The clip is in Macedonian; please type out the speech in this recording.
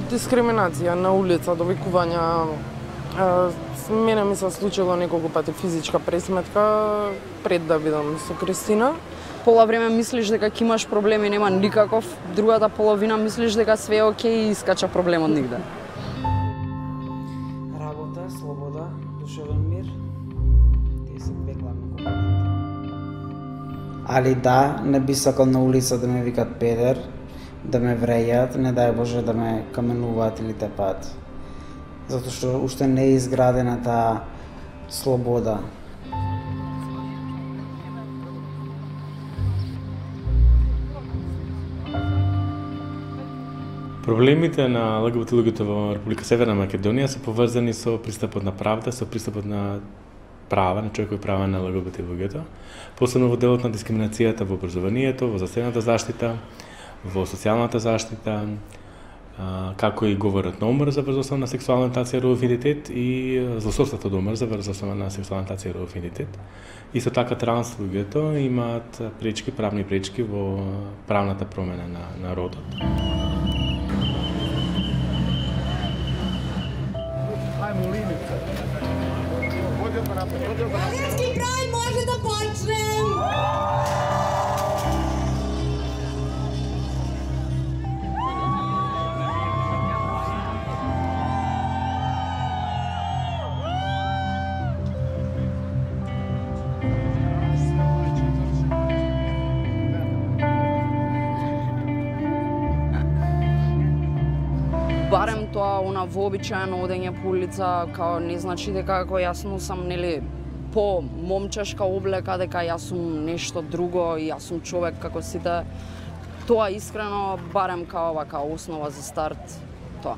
Дискриминација на улица, довикувања. Мене ми се случило неколку пати физичка пресметка пред да бидам со Кристина. Пола време мислиш дека ќе имаш проблеми, нема никаков, другата половина мислиш дека све е окей и искача проблемот нигде. Работа, слобода, душевен мир, тие се две главни компоненти. Али да, не би сакал на улица да ме викат педер, да ме врејат, не дај Боже да ме каменуваат или тепат. Затоа што уште не е изградена таа слобода. Проблемите на ЛГБТ луѓето во Република Северна Македонија се поврзани со пристапот на правда, со пристапот на права, на човекови права на ЛГБТ луѓето, посебно во делот на дискриминацијата во образованието, во здравствената заштита, во социјалната заштита, како и говорот на омрза врз основа на сексуална ориентација и родов идентитет и злосторството до омрза врз основа на сексуална ориентација и родов идентитет. Исто така транс луѓето имаат пречки, правни пречки во правната промена на родот. Магијарски крај може да почнем! Барем тоа она вообичаено одење по улица, као не значи дека ако јас носам нели по момчешка облека дека јас сум нешто друго и јас сум човек како сите. Тоа искрено барем као ова као основа за старт тоа.